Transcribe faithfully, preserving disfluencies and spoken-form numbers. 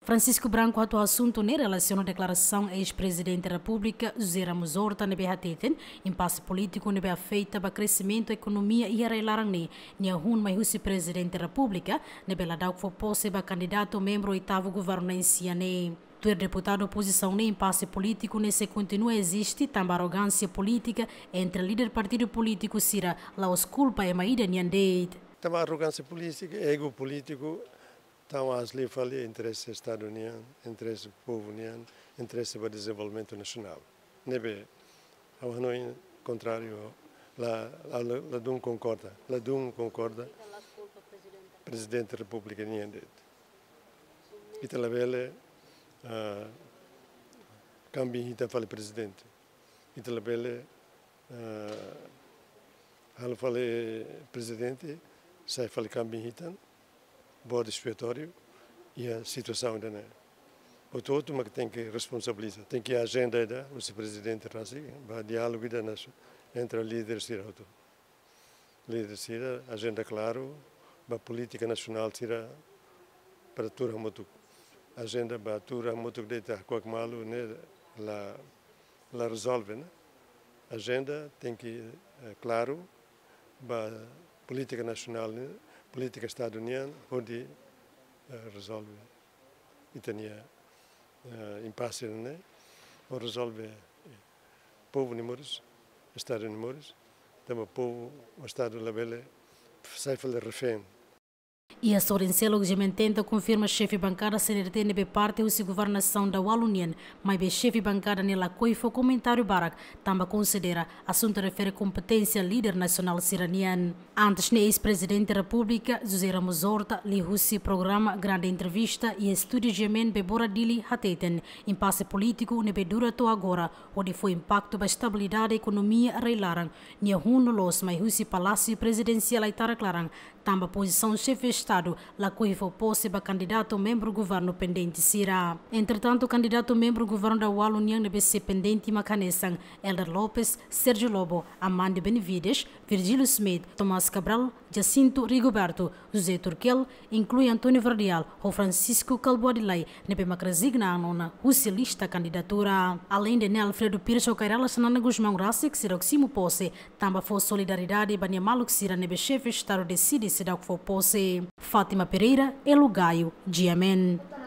Francisco Branco hato'o asuntu ne'e relasiona deklarasaun eis-Prezidente Repúblika José Ramos Horta ne'ebé hateten impase polítiku ne'ebé afeta ba kresimentu ekonomia iha rai-laran ne'e nia hun mai husi Prezidente Repúblika ne'ebé ladauk fó pose ba kandidatu membru oitavu governu na'in-sia ne'e. Tuir deputadu opozisaun ne'e, impase polítiku ne'e sei kontinua eziste tanba arrogánsia polítika entre líder partidu polítiku sira, la'ós kulpa ema ida nian de'it. Tanba arrogánsia polítika, ego polítiku, tau aas liu fali interese Estadu nian, interese povu nian, interese ba dezenvolvimentu nasionál. Ne'ebé, ha'u hanoin kontráriu, la, la, la, ladún konkorda, ladún konkorda Prezidente Repúblika nian de'it. Ita labele, ah, kambing hitan fali Prezidente. Ita labele, ah, halo fali Prezidente sai fali kambing hitan, bode expiatóriu iha situasaun ida-ne'e. Hotu-hotu mak tenke responsabiliza, tenke ajenda ida husi Prezidente rasik, ba diálogu ida nasu entre líder sira hotu. Líder sira, ajenda klaru ba polítika nasionál sira para tuur hamutuk. Ajenda ba tuur hamutuk de'it hakuak malu ne'e la, la rezolve, ne'e. Ajenda tenke, eh, klaru ba polítika nasionál ne'e, polítika Estadu nian hodi, eh, rezolve ita-nia, eh, impase ne'e, hodi rezolve, eh, povu nia moris, Estadu nia moris, tanba povu, Estadu labele sai fali refén. Iha sorin seluk GMN tenta konfirma xefe bankada C N R T ne'ebé parte husi governasaun daualu nian, maibé xefe bankada ne'e lakohi fó komentáriu barak, tanba konsidera asuntu refere kompeténsia líder nasionál sira nian. Antes ne'e, eis-Prezidente Repúblika José Ramos Horta liuhusi programa Grande Entrevista iha estúdiu GMN Bebora Dili hateten impase polítiku ne'ebé dura to'o agora hodi fó impaktu ba estabilidade ekonomia rai-laran nia hun loloos mai husi Palásiu Prezidensiál Aitarak laran, tanba pozisaun xefe Estadu lakohi fó pose ba kandidatu membru governu pendente sira. Entretantu, kandidatu membru governu daualu nian ne'ebé sei pendente mak hanesan Helder Lopes, Sérgio Lobo, Amândio Benevides, Virgílio Schmidt, Tomás Cabral, Jacinto Rigoberto, José Turkel, inklui António Verdial ho Francisco Kalbuah Delahy, ne'ebé mak rezigna an ona husi lista kandidatura. Aleinde ne'e, Alfredo Pires ho Kay Rala Xanana Gusmão rasik seidauk simu pose, tanba fó solidariedade ba nia maluk sira ne'ebé xefe Estadu deside seidauk fó pose. Fátima Pereira, Elo Gayo, GMN.